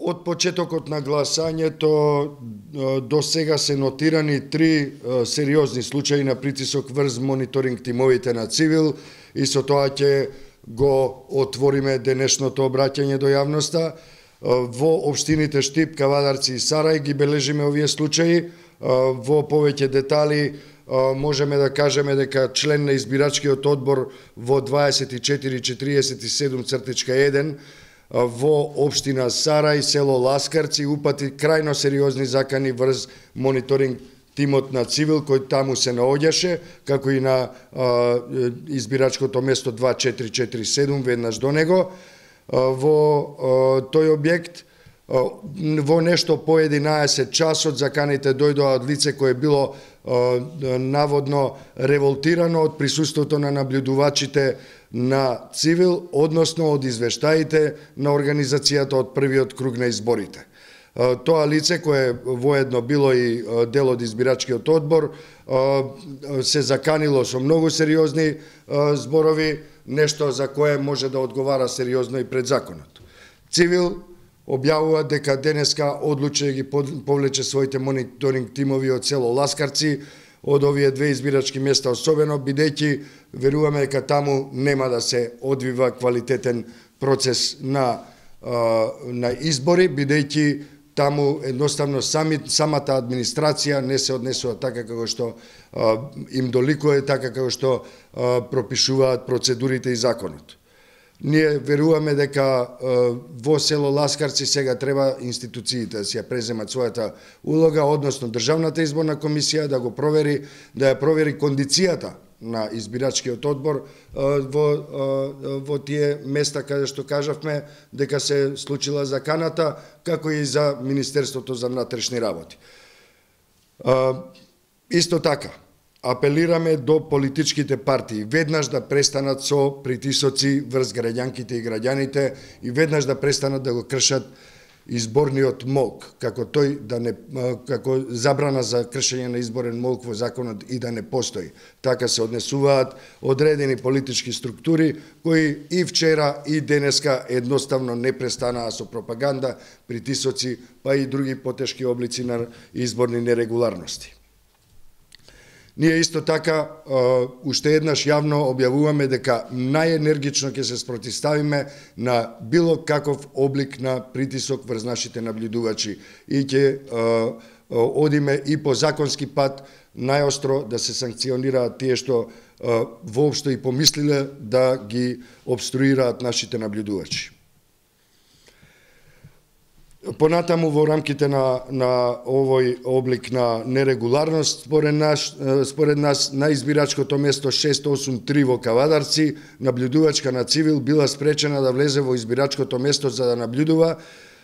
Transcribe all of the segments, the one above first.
Од почетокот на гласањето до сега се нотирани 3 сериозни случаи на притисок врз мониторинг тимовите на Цивил и со тоа ќе го отвориме денешното обраќање до јавноста. Во општините Штип, Кавадарци и Сарај ги бележиме овие случаи. Во повеќе детали можеме да кажеме дека член на избирачкиот одбор во 2447/1 во општина Сарај, село Ласкарци, упати крајно сериозни закани врз мониторинг тимот на Цивил кој таму се наоѓаше, како и на избирачкото место 2447 веднаш до него. Во тој објект во нешто по 11 часот заканите дојдоа од лице кое било наводно револтирано од присуството на наблюдувачите на Цивил, односно од извештаите на организацијата од првиот круг на изборите. Тоа лице, кое воедно било и дел од избирачкиот одбор, се заканило со многу сериозни зборови, нешто за кое може да одговара сериозно и пред законот. Цивил објавува дека денеска одлучи да ги повлече своите мониторинг тимови од село Ласкарци, од овие 2 избирачки места особено, бидејќи веруваме дека таму нема да се одвива квалитетен процес на избори, бидејќи таму едноставно самата администрација не се однесува така како што им доликува, така како што пропишуваат процедурите и законот. Ние веруваме дека во село Ласкарци сега треба институциите да си ја преземат својата улога, односно Државната изборна комисија да го провери, да ја провери кондицијата на избирачкиот одбор во тие места каде што кажавме дека се случила заканата, како и за Министерството за внатрешни работи. Исто така, апелираме до политичките партии веднаш да престанат со притисоци врз граѓанките и граѓаните и веднаш да престанат да го кршат изборниот молк, како забрана за кршење на изборен молк во законот и да не постои. Така се однесуваат одредени политички структури кои и вчера и денеска едноставно не престанаа со пропаганда, притисоци, па и други потешки облици на изборни нерегуларности. Ние исто така уште еднаш јавно објавуваме дека најенергично ќе се спротивставиме на било каков облик на притисок врз нашите наблюдувачи и ќе одиме и по законски пат најостро да се санкционираат тие што воопшто и помислиле да ги обструираат нашите наблюдувачи. Понатаму во рамките на овој облик на нерегуларност, според нас на избирачкото место 683 во Кавадарци, наблюдувачка на Цивил била спречена да влезе во избирачкото место за да наблюдува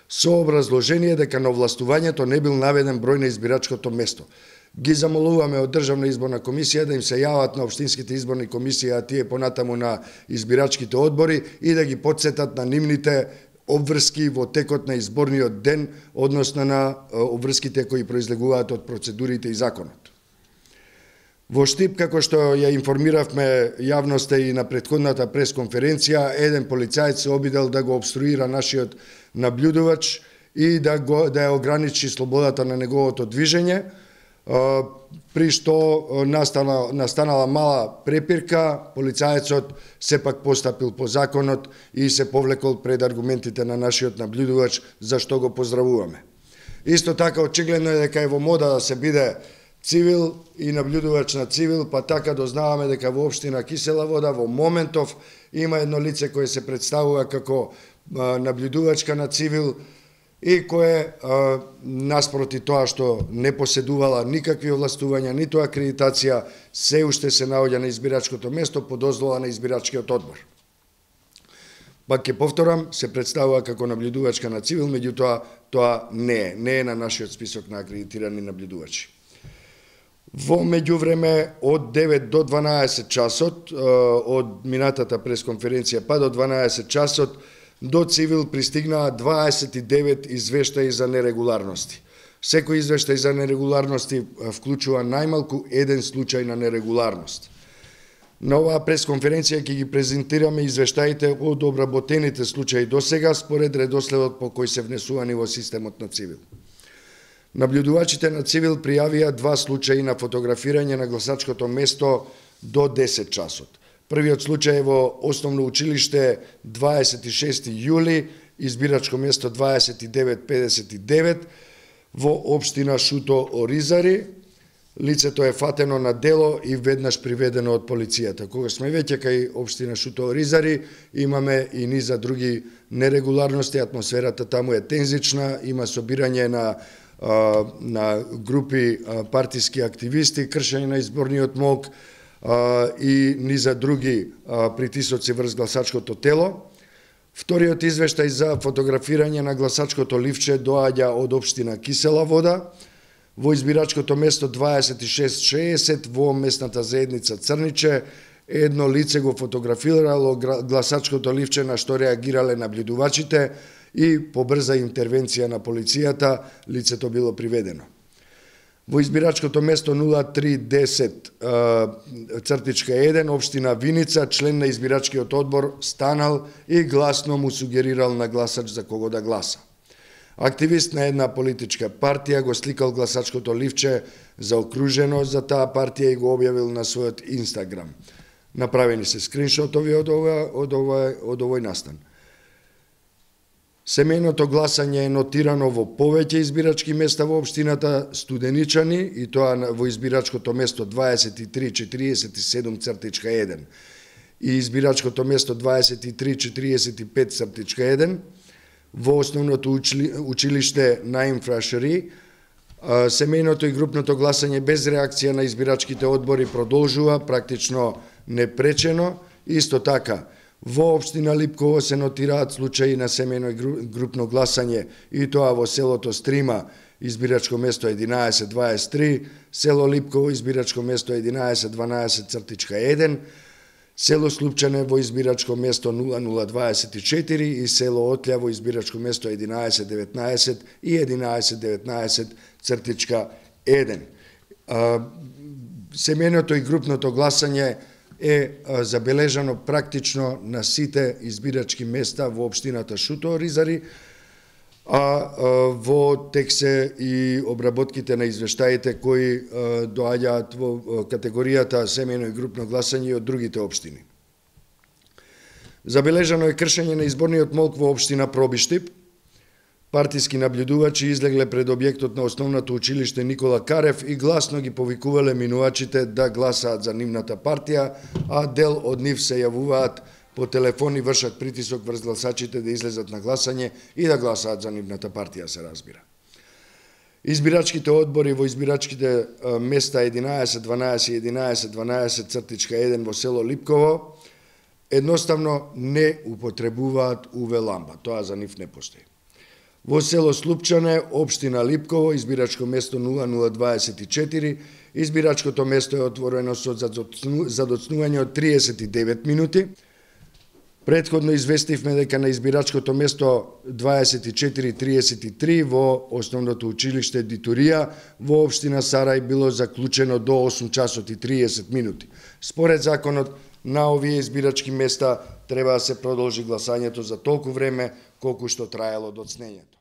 со образложение дека на овластувањето не бил наведен број на избирачкото место. Ги замолуваме од Државна изборна комисија да им се јават на општинските изборни комисии, а тие понатаму на избирачките одбори и да ги потсетат на нивните обврски во текот на изборниот ден, односно на обврските кои произлегуваат од процедурите и законот. Во Штип, како што ја информиравме јавноста и на претходната пресконференција, еден полицаец се обидел да го обструира нашиот наблюдувач и да ја ограничи слободата на неговото движење, при што настанала мала препирка, полицаецот сепак постапил по законот и се повлекол пред аргументите на нашиот наблюдувач, за што го поздравуваме. Исто така, очигледно е дека е во мода да се биде Цивил и наблюдувач на Цивил, па така дознаваме дека во општина Кисела Вода во моментов има едно лице кое се представува како наблюдувачка на Цивил и кое наспроти тоа што не поседувала никакви овластувања, ниту акредитација, се уште се наоѓа на избирачкото место по дозвола на избирачкиот одбор. Пак ќе повторам, се представува како наблюдувачка на Цивил, меѓутоа тоа не е на нашиот список на акредитирани наблюдувачи. Во меѓувреме од 9 до 12 часот, од минатата пресконференција па до 12 часот, до Цивил пристигнаа 29 извештаи за нерегуларности. Секој извештај за нерегуларности вклучува најмалку еден случај на нерегуларност. На оваа пресконференција ќе ги презентираме извештаите од обработените случаи досега според редоследот по кој се внесувани во системот на Цивил. Наблюдувачите на Цивил пријавија 2 случаи на фотографирање на гласачкото место до 10 часот. Првиот случај е во Основно училиште 26 јули, избирачко место 2959 во општина Шуто Оризари. Лицето е фатено на дело и веднаш приведено од полицијата. Кога сме веќе кај општина Шуто Оризари, имаме и низа други нерегуларности, атмосферата таму е тензична, има собирање на групи партиски активисти, кршење на изборниот молк и низа други притисоци врз гласачкото тело. Вториот извештај за фотографирање на гласачкото ливче доаѓа од општина Кисела Вода, во избирачкото место 2660 во местната заедница Црниче. Едно лице го фотографирало гласачкото ливче, на што реагирале наблюдувачите и по брза интервенција на полицијата лицето било приведено. Во избирачкото место 0310-1, општина Виница, член на избирачкиот одбор станал и гласно му сугерирал на гласач за кого да гласа. Активист на една политичка партија го сликал гласачкото ливче заокружено за таа партија и го објавил на својот Инстаграм. Направени се скриншотови од овој настан. Семејното гласање е нотирано во повеќе избирачки места во општината Студеничани, и тоа во избирачкото место 2347-1 и избирачкото место 2345-1 во Основното училиште Наим Фрашери. Семејното и групното гласање без реакција на избирачките одбори продолжува практично непречено. Исто така, во општина Липково се нотираат случаи на семејно и групно гласање, и тоа во селото Стрима, избирачко место 1123, село Липково, избирачко место 1112-1, село Слупчане во избирачко место 0024 и село Отлја во избирачко место 1119 и 1119-1. Семејното и групното гласање е забележано практично на сите избирачки места во општината Шуто Оризари, а во тек се и обработките на извештаите кои доаѓаат во категоријата семејно и групно гласање од другите општини. Забележано е кршење на изборниот молк во општина Пробиштип. Партиски наблюдувачи излегле пред објектот на Основното училиште Никола Карев и гласно ги повикувале минувачите да гласаат за нивната партија, а дел од нив се јавуваат по телефон и вршат притисок врз гласачите да излезат на гласање и да гласаат за нивната партија, се разбира. Избирачките одбори во избирачките места 11-12 и 11-12-1 во село Липково едноставно не употребуваат УВ лампа, тоа за нив не постои. Во село Слупчане, општина Липково, избирачко место 0024, избирачкото место е отворено со задоцнување од 39 минути. Предходно известивме дека на избирачкото место 2433 во Основното училиште Дитурија во општина Сарај било заклучено до 8 часот и 30 минути. Според законот, на овие избирачки места треба да се продолжи гласањето за толку време колку што траело доцнењето.